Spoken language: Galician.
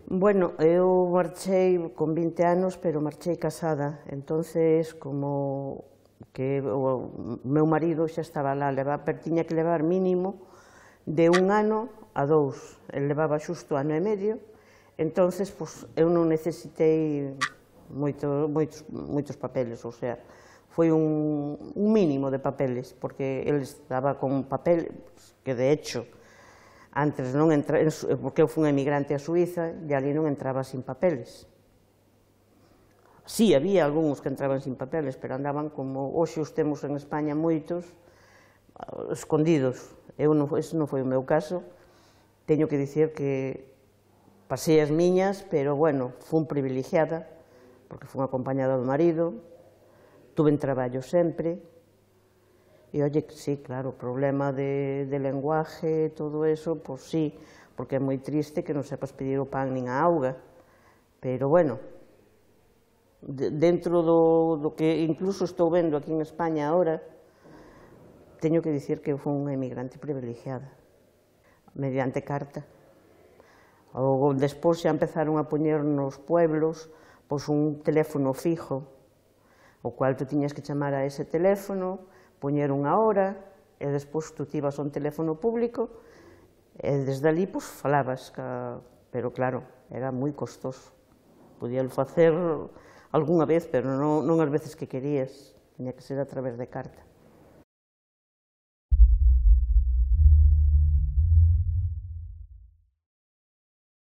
Bueno, eu marchei con 20 anos, pero marchei casada, entonces como que o meu marido xa estaba lá, tiña que levar mínimo de 1 ano a 2, el levaba xusto ano e medio, entonces eu non necesitei moitos papeles, ou sea, foi un mínimo de papeles, porque el estaba con papel que de hecho antes non entraba, porque eu fui un emigrante a Suiza e ali non entraba sin papeles. Si, había algúns que entraban sin papeles, pero andaban como hoxe os temos en España moitos, escondidos. Ese non foi o meu caso. Teño que dicir que pasei as miñas, pero, bueno, fui privilegiada, porque fui acompañada do marido, tuve traballo sempre, e, oye, sí, claro, o problema de lenguaje, todo eso, pois sí, porque é moi triste que non sepas pedir o pan nin a auga, pero, bueno, dentro do que incluso estou vendo aquí en España agora, teño que dicir que fui unha emigrante privilegiada, mediante carta. Despois xa empezaron a poñer nos pueblos un teléfono fijo, o cual tú tiñas que chamar a ese teléfono, poñer unha hora, e despois tú te ibas a un teléfono público, e desde ali falabas, pero claro, era moi costoso. Podíalo facer algunha vez, pero non as veces que querías, tiña que ser a través de carta.